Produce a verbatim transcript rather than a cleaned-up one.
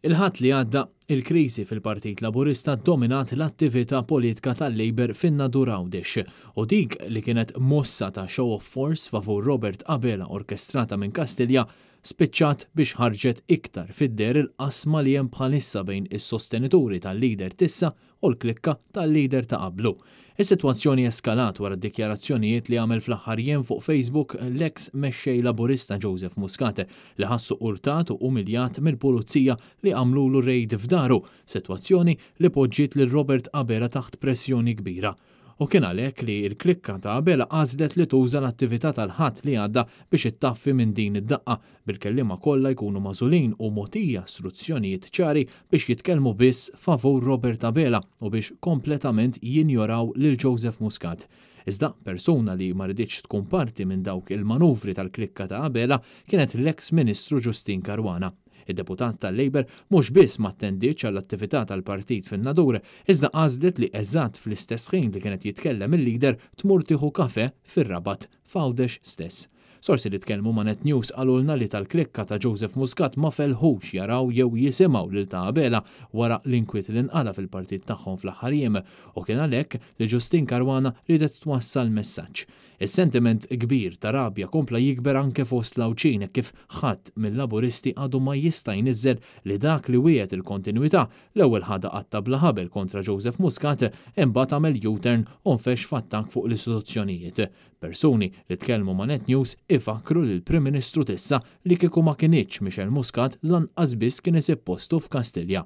Il-Ħadd li għadda, il-kriżi fil-Partit Laburista dominat l-attività politika tal-Labour fin-Nadur Għawdex u dik li kienet mossa ta' show of force favur Robert Abela orkestrata minn Kastilja spiċċat biex ħarġet iktar fid-deher il-qasma li hemm bħalissa bejn is-sostenituri tal-lider t'issa u l-klikka tal-lider ta' qablu. Is-sitwazzjoni eskalat wara dikjarazzjonijiet li għamel fl-aħħar jiem fuq Facebook l-eks mexxej Laburista Joseph Muscat li ħassu urtat u umiljat mill-pulizija li għamlulu rejd f'daru, sitwazzjoni li poġġiet lil Robert Abela taħt pressjoni kbira. U kien għalhekk li l-klikka ta' Abela għażlet li tuża l-attività tal-Ħadd li għadda biex ittaffi minn din id-daqqa, bil-kelliema kollha jkunu magħżulin u mogħtija istruzzjonijiet ċari biex jitkellmu biss favur Robert Abela u biex kompletament jinjoraw lil Joseph Muscat. Iżda persuna li ma riditx tkun parti minn dawk il-manuvri tal-klikka ta' Abela kienet l-eks Ministru Justyne Caruana. Id-deputat tal-Labour mhux biss ma attendietx għall-attività tal-partit fin-Nadur, iżda għażlet li eżatt fl-istess ħin li kienet jitkellem il-lider tmur tieħu kafe fir-Rabat f'Għawdex stess. Sorsi li tkellmu ma' Net News qalulna li tal-klikka ta' Joseph Muscat ma felħux jaraw jew jisimgħu lil ta' Abela wara l-inkwiet li nqala fil-partit tagħhom fl-aħħar jiem u kien għalhekk li Justyne Caruana riedet twassal messaġġ. Is-sentiment kbir ta' rabja kompla jikber anke fost l-Għawdxin kif ħadd mill-Laburisti għadu ma jista' jniżżel li dak li wiegħed il-kontinwità l-ewwel ħadha qatta bla ħabel kontra Joseph Muscat, imbagħad għamel U-turn u nfex f'attakk fuq l-istituzzjonijiet. Persuni li tkellmu ma' Net News ifakru li l-Prim Ministru t'issa li kieku ma kinitx Michelle Muscat lanqas biss kien isib postu f'Kastilja.